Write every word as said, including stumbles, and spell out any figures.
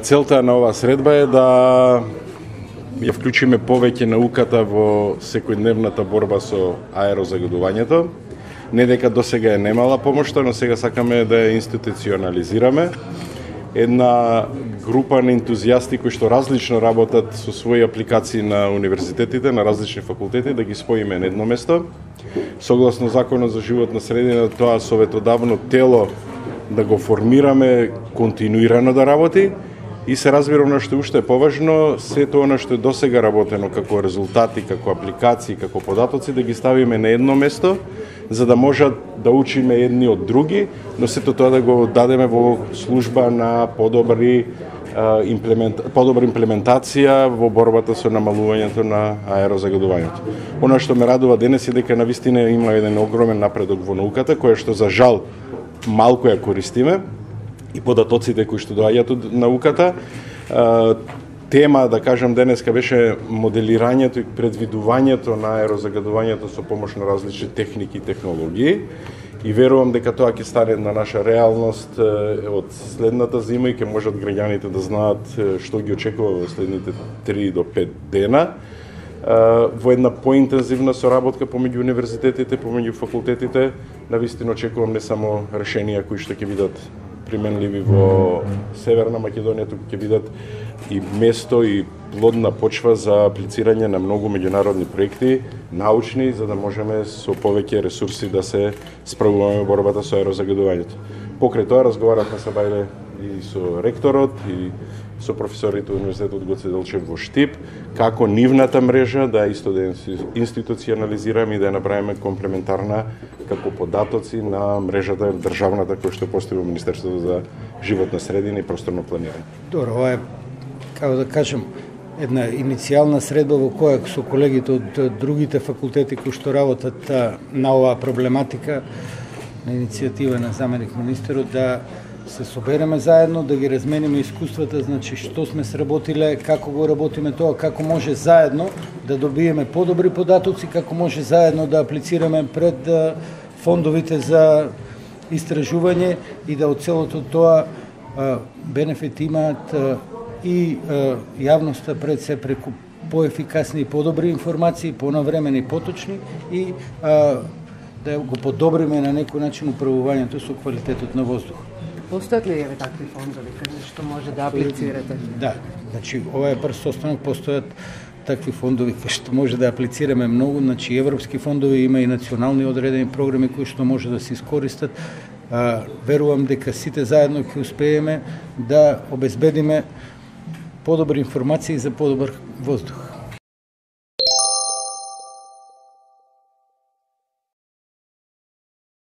Целта на оваа средба е да ја вклучиме повеќе науката во секојдневната борба со аерозагадувањето. Не дека досега е немала помошта, но сега сакаме да ја институционализираме. Една група на ентузијасти кои што различно работат со своји апликации на универзитетите, на различни факултети, да ги споиме на едно место. Согласно Законот за животна средина, тоа советодавно тело да го формираме континуирано да работи и се разбира она што уште е поважно, сето она што е досега работено како резултати, како апликации, како податоци, да ги ставиме на едно место, за да можат да учиме едни од други, но сето тоа да го дадеме во служба на подобри имплемент, подобра имплементација во борбата со намалувањето на аерозагадувањето. Она што ме радува денес е дека навистина има еден огромен напредок во науката, која што за жал малку ја користиме, и податоците кои што доаѓаат од науката. Тема, да кажам, денеска беше моделирањето и предвидувањето на аерозагадувањето со помош на различни техники и технологии. И верувам дека тоа ќе стане на наша реалност од следната зима и ќе можат граѓаните да знаат што ги очекува во следните три до пет дена. Во една поинтензивна соработка помеѓу универзитетите, помеѓу факултетите, навистина очекувам не само решенија кои што ќе бидат применливи во Северна Македонија, туку ќе бидат и место и плодна почва за аплицирање на многу меѓународни проекти, научни, за да можеме со повеќе ресурси да се справуваме во борбата со аерозагадувањето. Покрај тоа разговаравме се бајле и со ректорот и со професорите од Универзитетот Гоце Делчев во Штип, како нивната мрежа да исто да институционализираме и да ја направиме комплементарна како податоци на мрежата државната која што постои во Министерството за животна средина и просторно планирање. Добро, ова е, како да кажем, една иницијална средба во која со колегите од другите факултети кои што работат на оваа проблематика, на иницијатива на заменик министерот, да се собереме заедно, да ги размениме искуствата, значи што сме сработиле, како го работиме тоа, како може заедно да добиеме подобри податоци, како може заедно да аплицираме пред фондовите за истражување и да од целото тоа бенефит имаат и јавноста пред се преку поефикасни и подобри информации, понавремени и поточни и да го подобриме на некој начин управувањето со квалитетот на воздух. Постојат ли еве такви фондови каде што може да аплицирате? Да, значи ова е прв состанок, постојат такви фондови каде што може да аплицираме многу, значи европски фондови, има и национални одредени програми кои што може да се искористат. А, верувам дека сите заедно ќе успееме да обезбедиме подобри информации за подобар воздух.